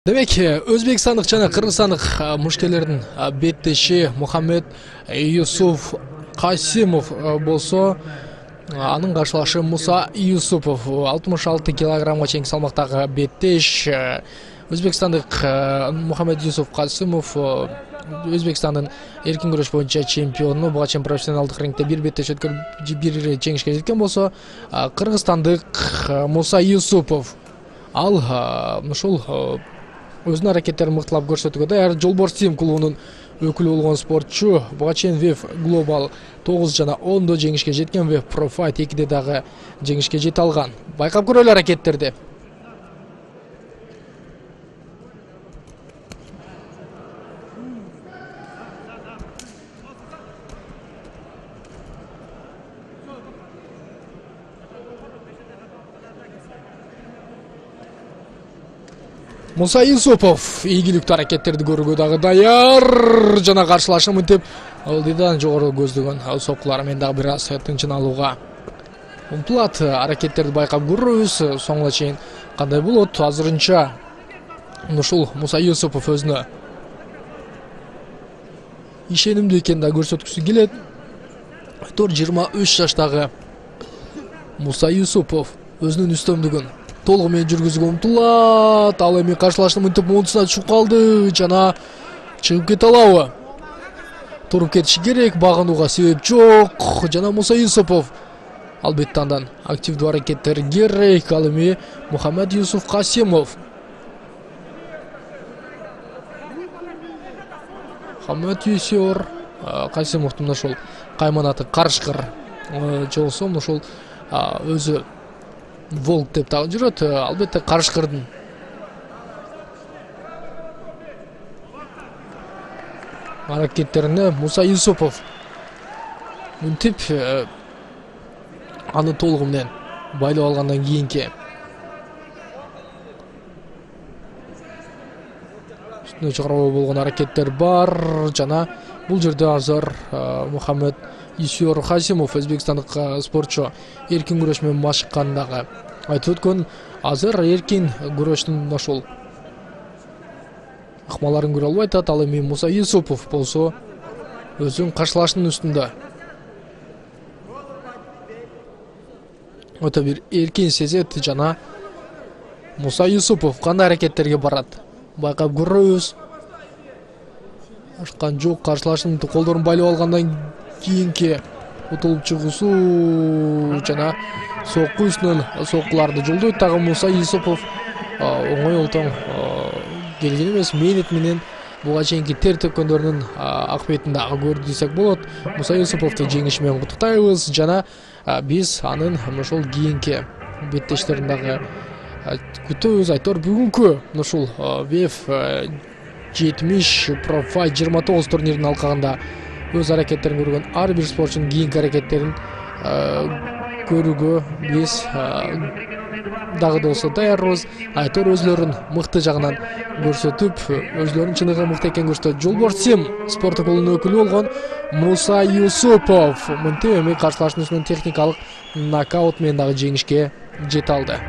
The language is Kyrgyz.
Демек, Өзбекстандык жана Кыргызстандык мушкерлердин беттеши Мухаммед Юсуф Касимов болсо, анын каршылашы Муса Юсупов 66 килограммга чейинки салмактагы беттеш. Өзбекстандык Мухаммед Юсуф Касимов Өзбекстандын эркин күрөш боюнча чемпиону, буга чейин профессионалдык рингде бир беттеш өткөрүп бир жеңишке жеткен болсо, кыргызстандык Муса Юсупов ал ушул өзүнүн аракеттерин мыктылап көрсөтүүгө даяр. Жолборстим клубунун өкүлү болгон спортчу буга чейин WEF Global 9 жана 10 жеңишке жеткен, WEF Pro Fight 2 дагы жеңишке жете алган. Байкап көрөлү аракеттерди. Муса Юсупов ийгиликтүү аракеттерди көрүүгө дагы даяр жана каршылашын мынтип алдыдан жогору көздөгөн соккулар менен дагы бир аз тынчын алууга умтулат. Аракеттерди байкап көрөбүз. Соңуна чейин кандай болот? Азырынча ушул Муса Юсупов өзүнө ишенимдүү экенин да көрсөткүсү келет. 23 жаштагы Муса Юсупов өзүнүн үстөмдүгүн толугу менен жүргүзүүгө умтулат. Ал эми каршылашты мынтип муунтусуна түшүп калды жана чыгып кете алабы? Туруп кетиши керек, багынууга себеп жок. Жана Муса Юсупов албетте андан активдүү аракеттер керек. Ал эми Мухаммед Юсуф Касимов. Мухаммед Юсуф Касимовдун ошол кайманаты карышкыр же болсо ошол өзү волк деп дагы жүрөт. Албетте карышкырдын аракеттерине Муса Юсупов мынтип аны толугу менен байлап алгандан кийинки үстүнө чыгаруу болгон аракеттер бар. Жана бул жерде азыр Мухаммед Юсуф Касимов өзбекстандык спортчу эркин күрөш менен машыкканын дагы айтып өткөн. Азыр эркин күрөштүн ошол акмаларын көрө албай атат. Ал эми Муса Юсупов болсо өзүнүн каршылашынын үстүндө өтө бир эркин сезет. Жана Муса Юсупов кандай аракеттерге барат байкап көрөбүз. Ашкан жок. Каршылашынын колдорун байлап алгандан кийинки утулуп чыгуусу жана сокку үстүнөн соккуларды жолдойт дагы Муса Юсупов. Оңой олтоң келген эмес. Мээнет менен буга чейинки тер төккөндөрүнүн акыбетін дагы көрдү десек болот. Муса Юсуповду жеңиши менен куттуктайбыз жана биз анын ошол кийинки беттештерин дагы күтөбүз. Айтор бүгүнкү ушул WEF 70 Pro Fight 29 турниринин алкагында өз аракеттерин көргөн ар бир спортчунун кийинки аракеттерин көрүүгө биз дагы да болсо даярбыз. Айтор өзлөрүн мыкты жагынан көрсөтүп, өзлөрүнүн чыныгы мыкты экенин көрсөтөт. Жолборстим спорттук клубунун өкүлү болгон Муса Юсупов мынтип эми каршылашынын техникалык нокаут менен дагы жеңишке жете алды.